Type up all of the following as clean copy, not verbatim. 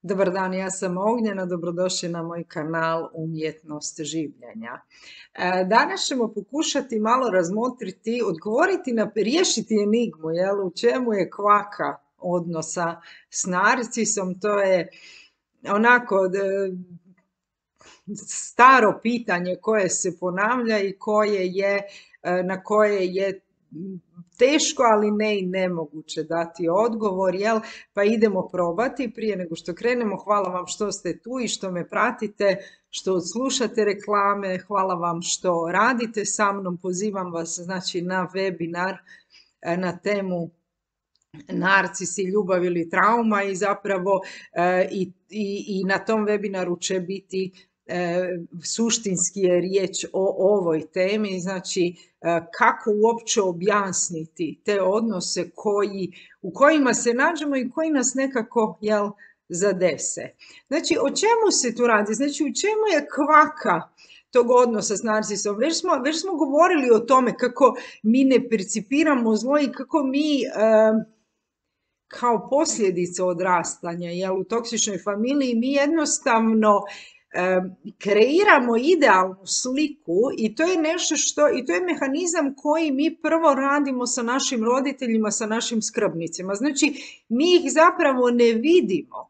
Dobar dan, ja sam Ognjena, dobrodošli na moj kanal Umjetnost življenja. Danas ćemo pokušati malo razmotriti, odgovoriti riješiti enigmu, u čemu je kvaka odnosa s narcisom. To je onako staro pitanje koje se ponavlja i na koje je teško, ali ne i nemoguće dati odgovor, Pa idemo probati. Prije nego što krenemo, hvala vam što ste tu i što me pratite, što slušate reklame, hvala vam što radite sa mnom. Pozivam vas znači na webinar na temu narcisi, ljubav ili trauma i zapravo i na tom webinaru će biti suštinski je riječ o ovoj temi, znači kako uopće objasniti te odnose u kojima se nađemo i koji nas nekako zadese. Znači, o čemu se tu radi? Znači, u čemu je kvaka tog odnosa s narcisom? Već smo govorili o tome kako mi ne percipiramo zlo i kako mi kao posljedica odrastanja u toksičnoj familiji mi jednostavno kreiramo idealnu sliku i to je nešto i to je mehanizam koji mi prvo radimo sa našim roditeljima, sa našim skrbnicima. Znači, mi ih zapravo ne vidimo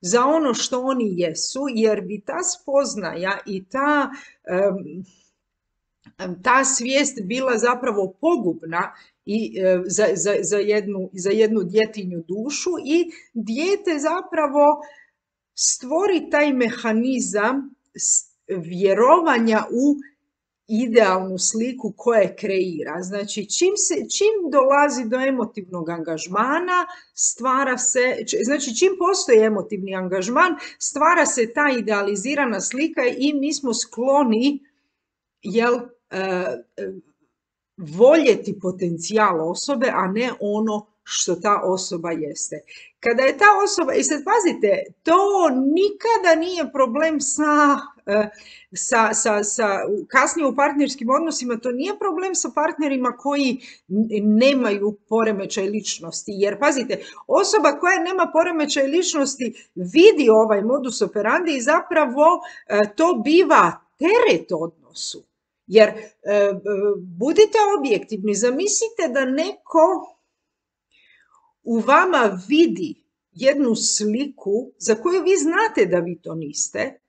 za ono što oni jesu, jer bi ta spoznaja i ta svijest bila zapravo pogubna i za jednu djetinju dušu i dijete zapravo stvori taj mehanizam vjerovanja u idealnu sliku koje kreira. Znači, čim dolazi do emotivnog angažmana, čim postoji emotivni angažman, stvara se ta idealizirana slika i mi smo skloni, voljeti potencijal osobe, a ne ono što ta osoba jeste. Kada je ta osoba, i sad pazite, to nikada nije problem kasnije u partnerskim odnosima, to nije problem sa partnerima koji nemaju poremećaj ličnosti. Jer pazite, osoba koja nema poremećaj ličnosti vidi ovaj modus operandi i zapravo to biva teret odnosu. Jer budite objektivni, zamislite da neko u vama vidi jednu sliku za koju vi znate da vi to niste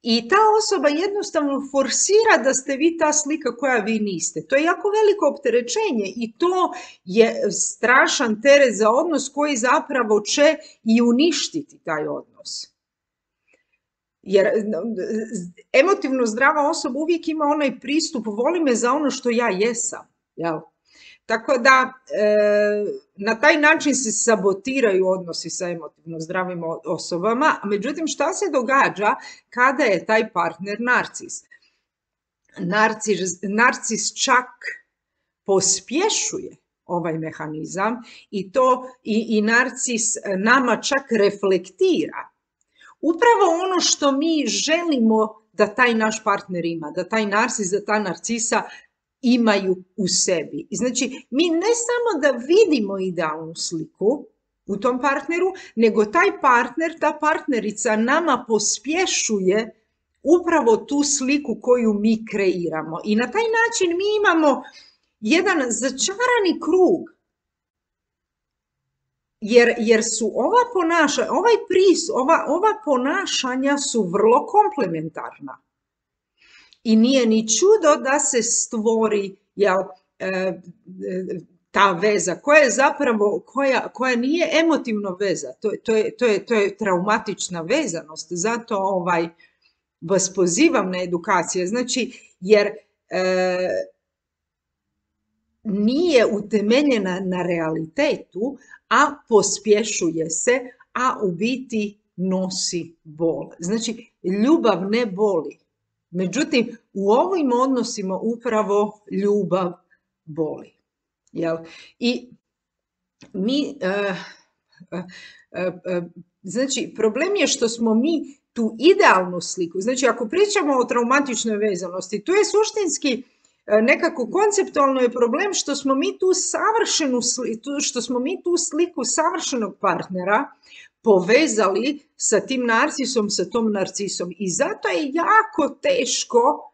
i ta osoba jednostavno forsira da ste vi ta slika koja vi niste. To je jako veliko opterećenje i to je strašan teret za odnos koji zapravo će i uništiti taj odnos. Jer emotivno zdrava osoba uvijek ima onaj pristup, voli me za ono što ja jesam, Tako da na taj način se sabotiraju odnosi sa emotivno zdravim osobama. Međutim, šta se događa kada je taj partner narcis? Narcis čak pospješuje ovaj mehanizam i narcis nama čak reflektira upravo ono što mi želimo da taj naš partner ima, da taj narcis, da ta narcisa imaju u sebi. Znači, mi ne samo da vidimo idealnu sliku u tom partneru, nego taj partner, ta partnerica nama pospješuje upravo tu sliku koju mi kreiramo. I na taj način mi imamo jedan začarani krug. Jer su ova ponašanja su vrlo komplementarna. I nije ni čudo da se stvori ta veza koja je zapravo, koja nije emotivno veza. To je traumatična vezanost. Zato vas pozivam na edukacije. Znači, jer nije utemeljena na realitetu, a pospješuje se, a u biti nosi bol. Znači, ljubav ne boli. Međutim, u ovim odnosima upravo ljubav boli. I mi, znači, problem je što smo mi tu idealnu sliku, znači ako pričamo o traumatičnoj vezanosti, tu je suštinski nekako konceptualno je problem što smo mi tu što smo mi tu sliku savršenog partnera povezali sa tim narcisom, sa tom narcisom. I zato je jako teško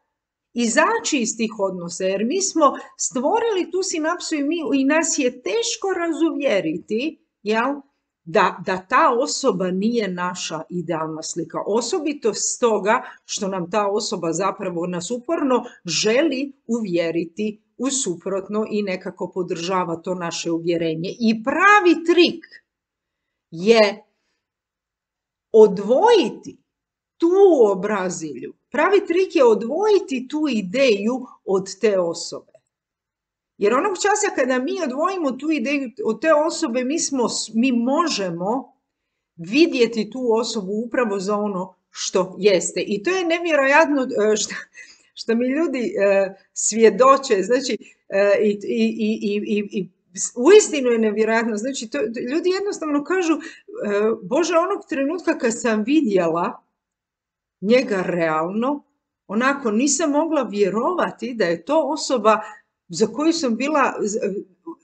izaći iz tih odnosa, jer mi smo stvorili tu sinapsu i nas je teško razuvjeriti, jel? Da ta osoba nije naša idealna slika. Osobito stoga što nam ta osoba zapravo nas uporno želi uvjeriti u suprotno i nekako podržava to naše uvjerenje. I pravi trik je odvojiti tu obrazilju. Pravi trik je odvojiti tu ideju od te osobe. Jer onog časa kada mi odvojimo tu ideju od te osobe, mi možemo vidjeti tu osobu upravo za ono što jeste. I to je nevjerojatno što mi ljudi svjedoče. Znači, uistinu je nevjerojatno. Znači, ljudi jednostavno kažu, Bože, onog trenutka kad sam vidjela njega realno, onako nisam mogla vjerovati da je to osoba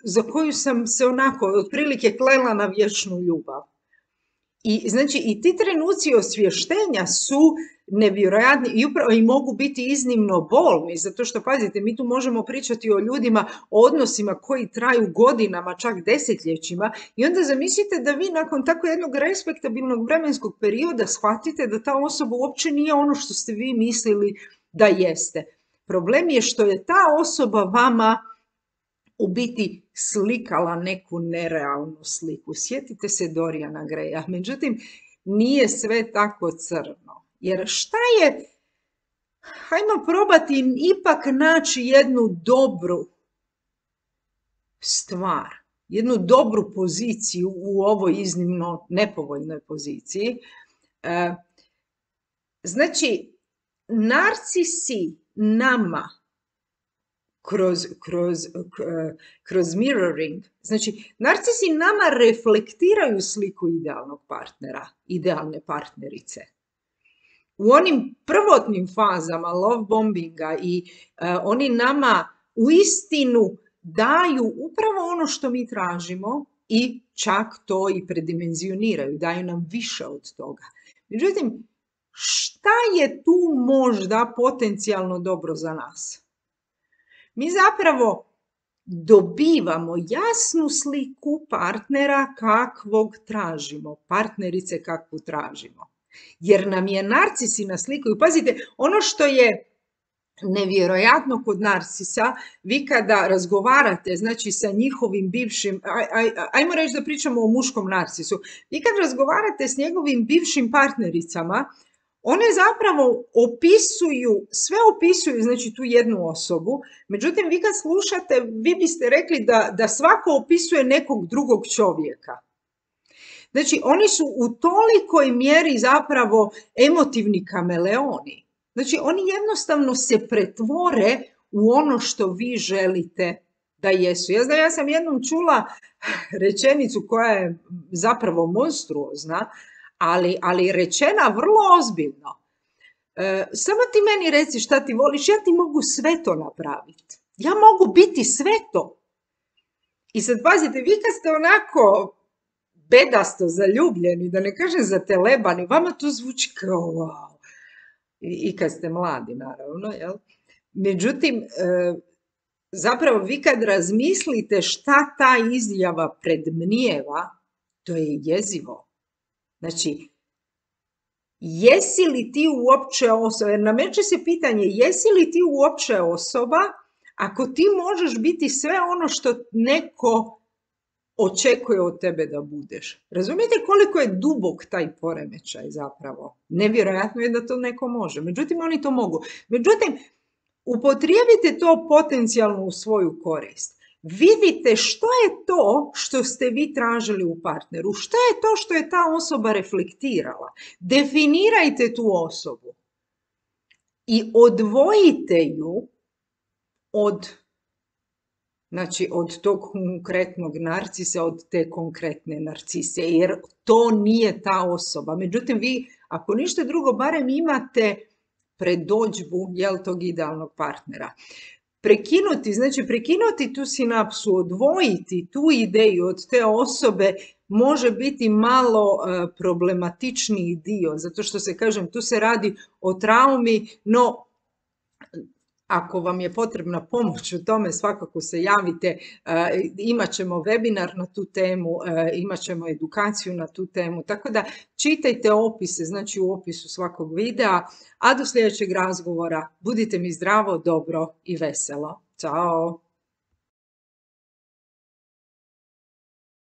za koju sam se onako otprilike klela na vječnu ljubav. I znači i ti trenuci osvještenja su nevjerojatni i mogu biti iznimno bolni, zato što pazite, mi tu možemo pričati o ljudima, o odnosima koji traju godinama, čak desetljećima, i onda zamislite da vi nakon tako jednog respektabilnog vremenskog perioda shvatite da ta osoba uopće nije ono što ste vi mislili da jeste. Problem je što je ta osoba vama u biti slikala neku nerealnu sliku. Sjetite se Doriana Graya. Međutim, nije sve tako crno. Jer šta je? Hajmo probati ipak naći jednu dobru stvar, jednu dobru poziciju u ovoj iznimno nepovoljnoj poziciji. Znači, narcisi nama kroz mirroring, znači narcisi nama reflektiraju sliku idealnog partnera, idealne partnerice. U onim prvotnim fazama love bombinga i oni nama uistinu daju upravo ono što mi tražimo i čak to i predimenzioniraju, daju nam više od toga. Međutim, šta je tu možda potencijalno dobro za nas? Mi zapravo dobivamo jasnu sliku partnera kakvog tražimo, partnerice kakvu tražimo. Jer nam je narcisi naslikaju. Pazite, ono što je nevjerojatno kod narcisa, vi kada razgovarate, znači sa njihovim bivšim, ajmo reći da pričamo o muškom narcisu, vi kad razgovarate s njegovim bivšim partnericama, one zapravo sve opisuju, znači tu jednu osobu, međutim vi kad slušate, vi biste rekli da svako opisuje nekog drugog čovjeka. Znači oni su u tolikoj mjeri zapravo emotivni kameleoni. Znači oni jednostavno se pretvore u ono što vi želite da jesu. Ja sam jednom čula rečenicu koja je zapravo monstruozna, ali rečena vrlo ozbiljno. Samo ti meni reci šta ti voliš, ja ti mogu sve to napraviti. Ja mogu biti sve to. I sad pazite, vi kad ste onako bedasto zaljubljeni, da ne kažem zatelebani, vama to zvuči kao wow. I kad ste mladi, naravno, jel? Međutim, zapravo vi kad razmislite šta ta izjava predmnijeva, to je jezivo. Znači, jesi li ti uopće osoba, jer nameće se pitanje, jesi li ti uopće osoba ako ti možeš biti sve ono što neko očekuje od tebe da budeš. Razumijete koliko je dubok taj poremećaj zapravo? Nevjerojatno je da to neko može. Međutim, oni to mogu. Međutim, upotrijebite to potencijalno u svoju korist. Vidite što je to što ste vi tražili u partneru. Što je to što je ta osoba reflektirala. Definirajte tu osobu. I odvojite ju od tog konkretnog narcisa, od te konkretne narcise, jer to nije ta osoba. Međutim, vi, ako ništa drugo, barem imate predodžbu tog idealnog partnera. prekinuti, znači prekinuti tu sinapsu, odvojiti tu ideju od te osobe može biti malo problematičniji dio, zato što se, kažem, tu se radi o traumi, no ako vam je potrebna pomoć u tome, svakako se javite, imat ćemo webinar na tu temu, imat ćemo edukaciju na tu temu, tako da čitajte opise, znači u opisu svakog videa, a do sljedećeg razgovora budite mi zdravo, dobro i veselo. Ćao!